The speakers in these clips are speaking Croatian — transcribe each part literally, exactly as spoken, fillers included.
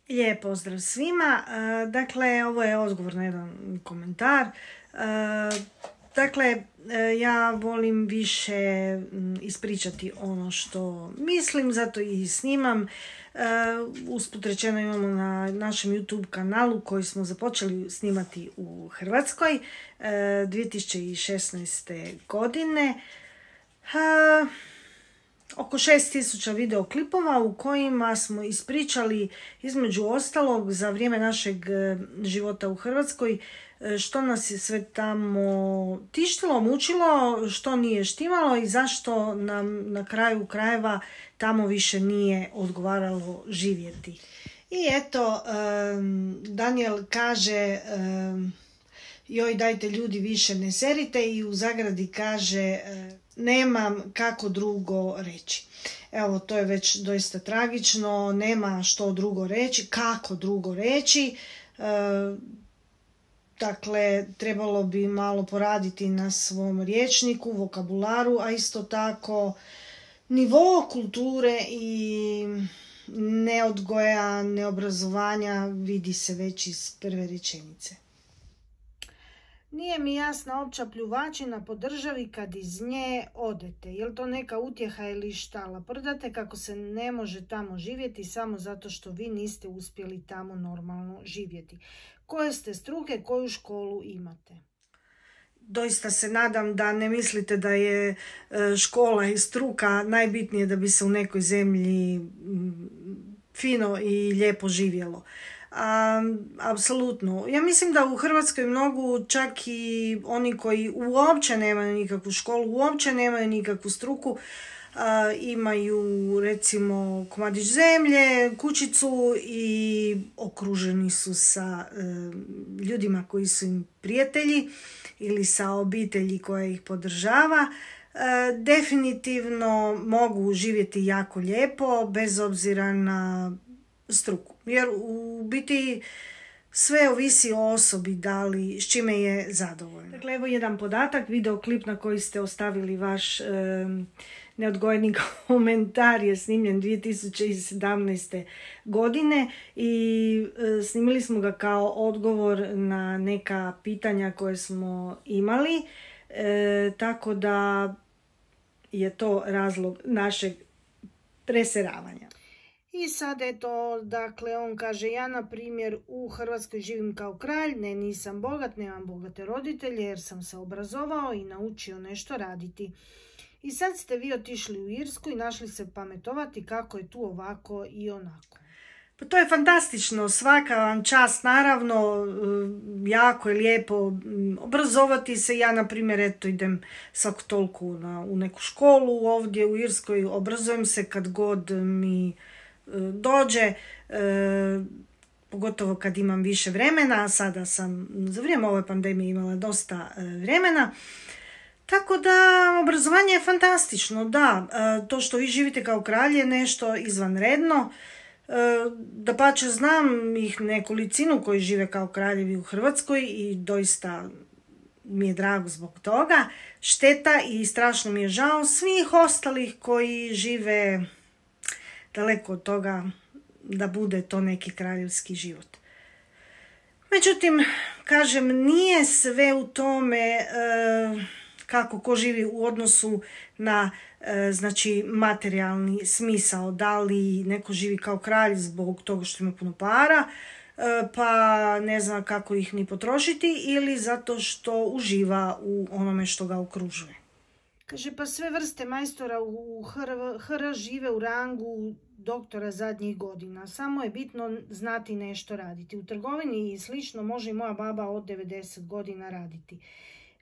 Lijep pozdrav svima. Dakle, ovo je odgovor na jedan komentar. Dakle, ja volim više ispričati ono što mislim, zato i snimam. Usput rečeno imamo na našem YouTube kanalu koji smo započeli snimati u Hrvatskoj dvije tisuće šesnaeste. godine. Oko šest tisuća videoklipova u kojima smo ispričali između ostalog za vrijeme našeg života u Hrvatskoj što nas je sve tamo tištilo, mučilo, što nije štimalo i zašto nam na kraju krajeva tamo više nije odgovaralo živjeti. I eto, Daniel kaže, joj dajte ljudi više ne serite, i u zagradi kaže, nemam kako drugo reći. Evo, to je već doista tragično, nema što drugo reći, kako drugo reći. E, dakle, trebalo bi malo poraditi na svom rječniku, vokabularu, a isto tako nivo kulture i neodgoja, neobrazovanja vidi se već iz prve rečenice. Nije mi jasna opća pljuvačina po državi kad iz nje odete. Je li to neka utjeha ili šta? Laprdate kako se ne može tamo živjeti samo zato što vi niste uspjeli tamo normalno živjeti. Koje ste struke, koju školu imate? Doista se nadam da ne mislite da je škola i struka najbitnije da bi se u nekoj zemlji fino i lijepo živjelo. Um, apsolutno. Ja mislim da u Hrvatskoj mnogu, čak i oni koji uopće nemaju nikakvu školu, uopće nemaju nikakvu struku, uh, imaju recimo komadić zemlje, kućicu i okruženi su sa uh, ljudima koji su im prijatelji ili sa obitelji koja ih podržava. Uh, definitivno mogu živjeti jako lijepo bez obzira na struku. Jer u biti sve ovisi o osobi da li, s čime je zadovoljna. Dakle, evo jedan podatak, videoklip na koji ste ostavili vaš e, neodgojeni komentar je snimljen dvije tisuće sedamnaeste. godine i e, snimili smo ga kao odgovor na neka pitanja koje smo imali, e, tako da je to razlog našeg preseravanja. I sad eto, dakle, on kaže, ja na primjer u Hrvatskoj živim kao kralj, ne, nisam bogat, nemam bogate roditelje jer sam se obrazovao i naučio nešto raditi. I sad ste vi otišli u Irsku i našli se pametovati kako je tu ovako i onako. Pa to je fantastično, svaka vam čast, naravno, jako je lijepo obrazovati se. Ja, na primjer, eto, idem svako toliko na, u neku školu ovdje u Irskoj, obrazujem se kad god mi dođe, e, pogotovo kad imam više vremena, a sada sam za vrijeme ove pandemije imala dosta e, vremena. Tako da obrazovanje je fantastično, da, e, to što vi živite kao kralj je nešto izvanredno. E, dapače, znam ih nekolicinu koji žive kao kraljevi u Hrvatskoj i doista mi je drago zbog toga. Šteta i strašno mi je žao svih ostalih koji žive daleko od toga da bude to neki kraljevski život. Međutim, kažem, nije sve u tome e, kako ko živi u odnosu na e, znači materijalni smisao. Da li neko živi kao kralj zbog toga što ima puno para, e, pa ne zna kako ih ni potrošiti, ili zato što uživa u onome što ga okružuje. Kaže, pa sve vrste majstora u H R žive u rangu doktora zadnjih godina. Samo je bitno znati nešto raditi. U trgovini i slično može i moja baba od devedeset godina raditi.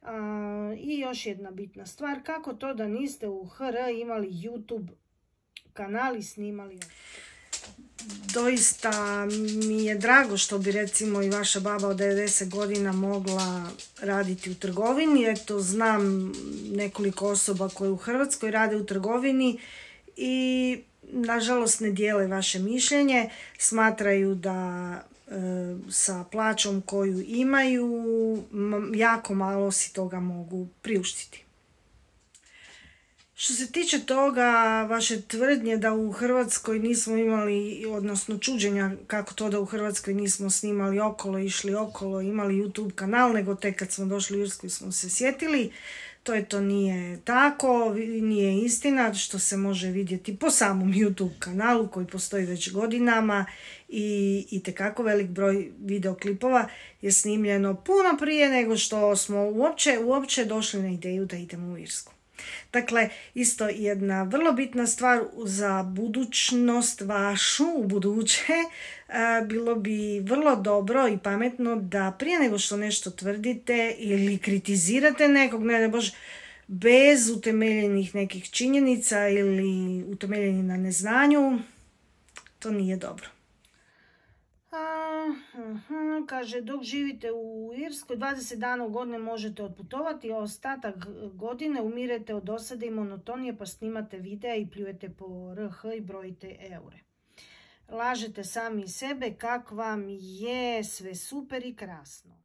A, I još jedna bitna stvar, kako to da niste u H R imali YouTube kanal i snimali? Doista mi je drago što bi recimo i vaša baba od devedeset godina mogla raditi u trgovini. Eto, znam nekoliko osoba koje u Hrvatskoj rade u trgovini i nažalost ne dijele vaše mišljenje. Smatraju da e, sa plaćom koju imaju jako malo si toga mogu priuštiti. Što se tiče toga, vaše tvrdnje da u Hrvatskoj nismo imali, odnosno čuđenja kako to da u Hrvatskoj nismo snimali okolo, išli okolo, imali YouTube kanal, nego tek kad smo došli u Irsku smo se sjetili, to je to nije tako, nije istina, što se može vidjeti po samom YouTube kanalu koji postoji već godinama i itekako velik broj videoklipova je snimljeno puno prije nego što smo uopće, uopće došli na ideju da idemo u Irsku. Dakle, isto jedna vrlo bitna stvar za budućnost vašu u buduće, bilo bi vrlo dobro i pametno da prije nego što nešto tvrdite ili kritizirate nekog, ne da bože, bez utemeljenih nekih činjenica ili utemeljeni na neznanju, to nije dobro. Uh-huh. Kaže, dok živite u Irskoj, dvadeset dana u godine možete otputovati, a ostatak godine umirete od dosade i monotonije, pa snimate videa i pljujete po R H i brojite eure. Lažete sami sebe kak vam je sve super i krasno.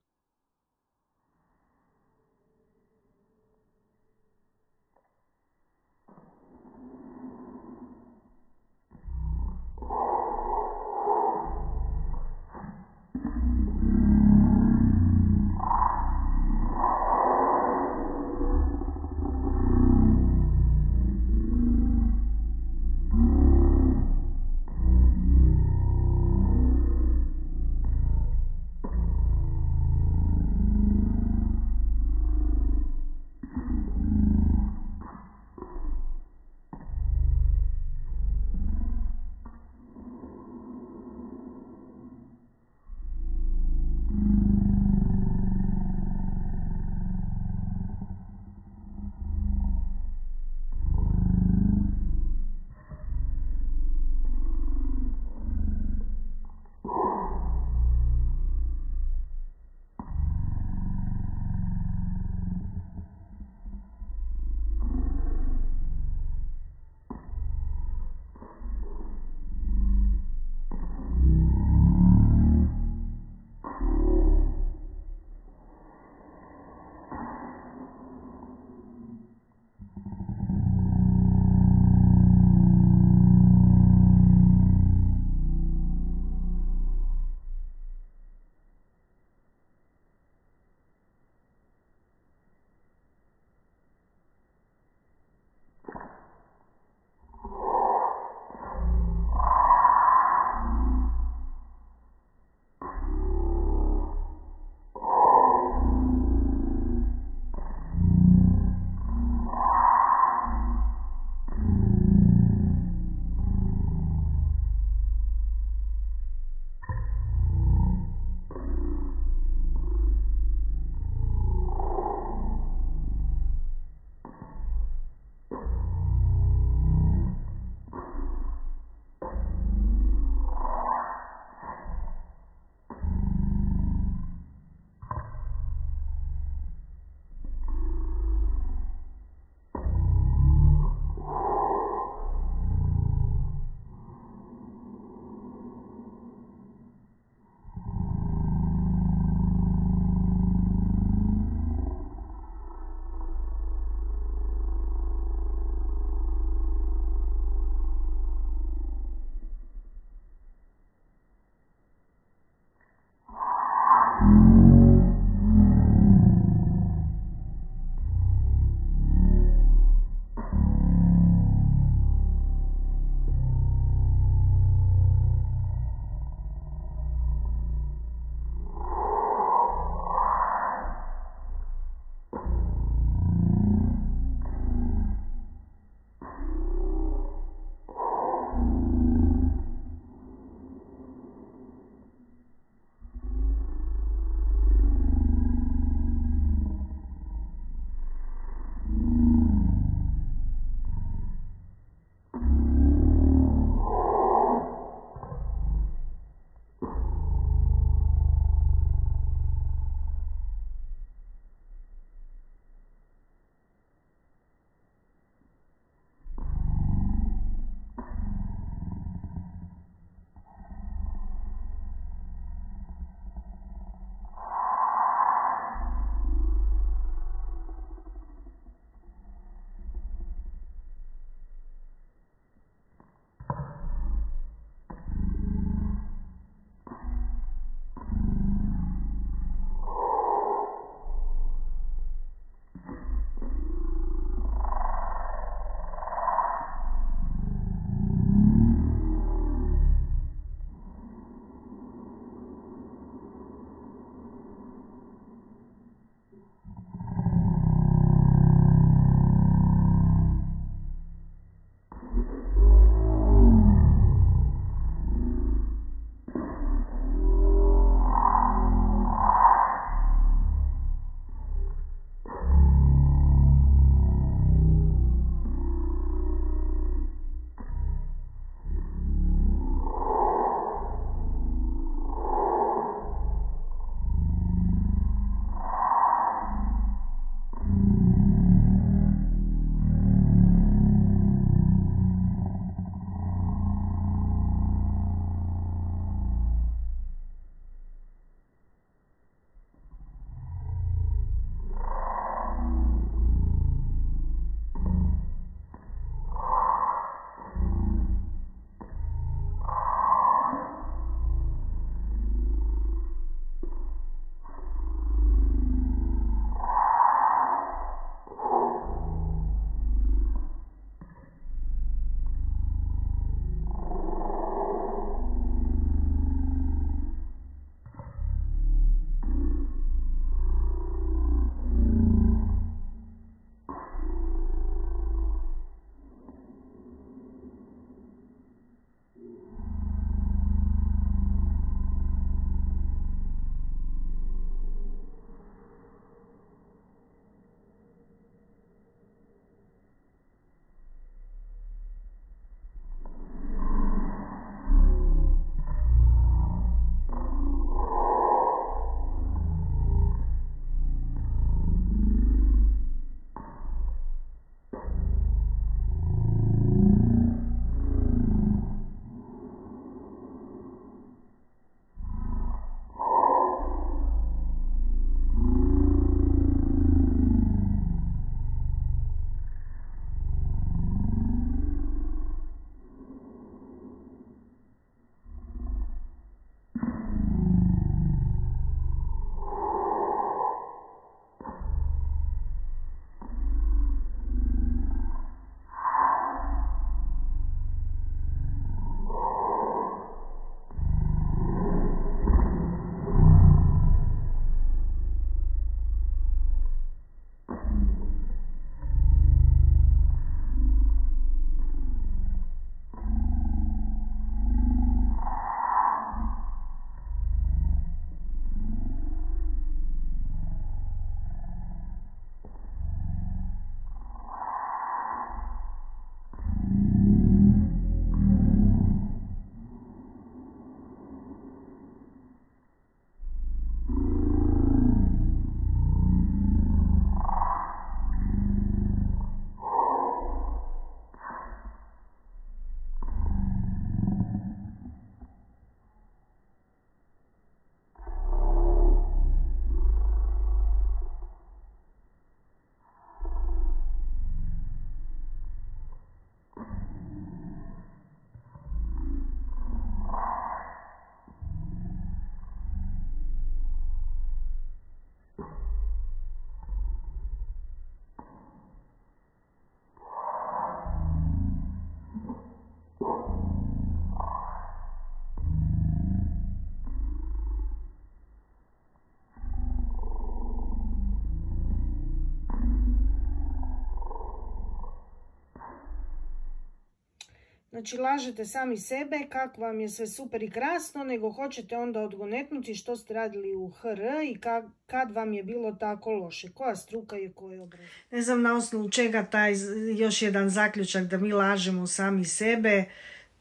Znači, lažete sami sebe kako vam je sve super i krasno, nego hoćete onda odgonetnuti što ste radili u H R i kad, kad vam je bilo tako loše. Koja struka je, koje obrazovanje? Ne znam na osnovu čega taj još jedan zaključak da mi lažemo sami sebe.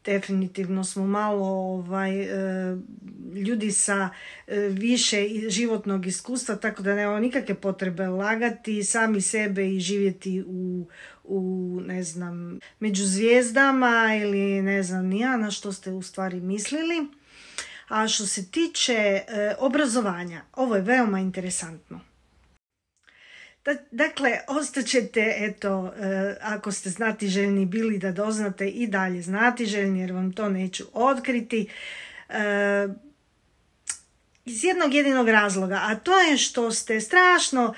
Definitivno smo malo ovaj, ljudi sa više životnog iskustva, tako da nemamo nikakve potrebe lagati sami sebe i živjeti u, u ne znam, među zvijezdama ili ne znam ni ja na što ste u stvari mislili. A što se tiče obrazovanja, ovo je veoma interesantno. Dakle, ostaćete, eto, ako ste znatiželjni bili da doznate i dalje znatiželjni, jer vam to neću otkriti, iz jednog jedinog razloga, a to je što ste strašno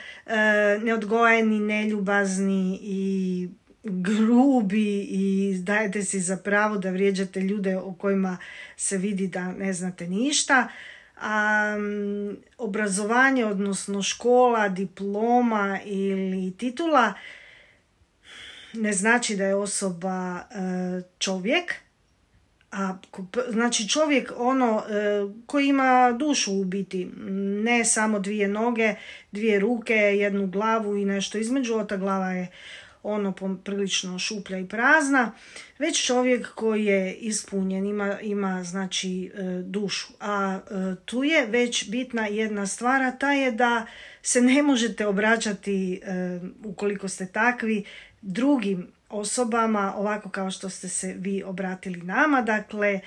neodgojeni, neljubazni i grubi i dajete si za pravo da vrijeđate ljude o kojima se vidi da ne znate ništa. A, um, obrazovanje, odnosno škola, diploma ili titula ne znači da je osoba uh, čovjek, a znači čovjek ono uh, koji ima dušu u biti, ne samo dvije noge, dvije ruke, jednu glavu i nešto između, a ta glava je ono prilično šuplja i prazna, već čovjek koji je ispunjen, ima, ima znači dušu. A tu je već bitna jedna stvar, a ta je da se ne možete obraćati, ukoliko ste takvi, drugim osobama ovako kao što ste se vi obratili nama. Dakle,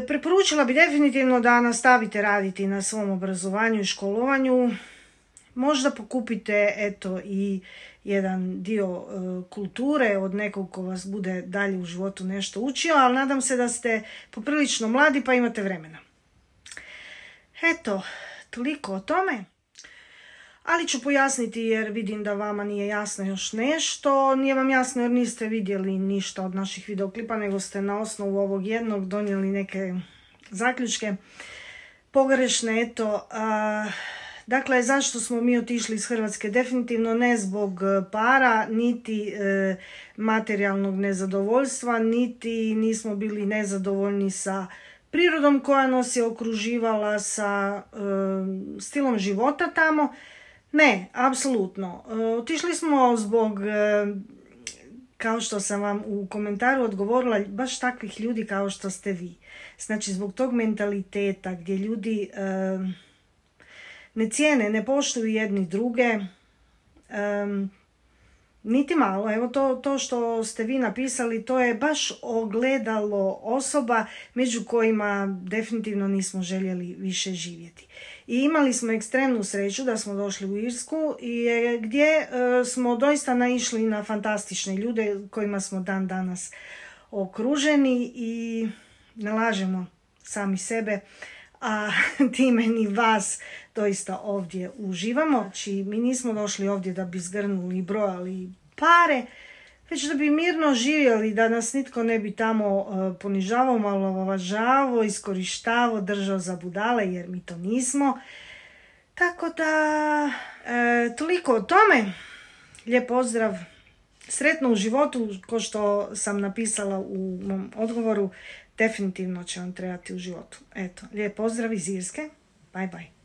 preporučila bi definitivno da nastavite raditi na svom obrazovanju i školovanju. Možda pokupite eto i jedan dio uh, kulture od nekog ko vas bude dalje u životu nešto učio, ali nadam se da ste poprilično mladi pa imate vremena. Eto, toliko o tome. Ali ću pojasniti jer vidim da vama nije jasno još nešto. Nije vam jasno jer niste vidjeli ništa od naših videoklipa, nego ste na osnovu ovog jednog donijeli neke zaključke pogrešne. Eto, uh, Dakle, zašto smo mi otišli iz Hrvatske? Definitivno ne zbog para, niti e, materijalnog nezadovoljstva, niti nismo bili nezadovoljni sa prirodom koja nas je okruživala, sa e, stilom života tamo. Ne, apsolutno. E, otišli smo zbog, e, kao što sam vam u komentaru odgovorila, baš takvih ljudi kao što ste vi. Znači, zbog tog mentaliteta gdje ljudi E, ne cijene, ne poštuju jedni druge, um, niti malo. Evo to, to što ste vi napisali, to je baš ogledalo osoba među kojima definitivno nismo željeli više živjeti. I imali smo ekstremnu sreću da smo došli u Irsku i gdje uh, smo doista naišli na fantastične ljude kojima smo dan danas okruženi i ne lažemo sami sebe, a time ni vas doista ovdje uživamo. Znači, mi nismo došli ovdje da bi zgrnuli i brojali pare, već da bi mirno živjeli, da nas nitko ne bi tamo uh, ponižavao, omalovažavao, iskorištavao, držao za budale, jer mi to nismo. Tako da, e, toliko o tome. Lijep pozdrav. Sretno u životu, ko što sam napisala u mom odgovoru, definitivno će vam trebati u životu. Eto, lijep pozdrav iz Irske. Bye bye.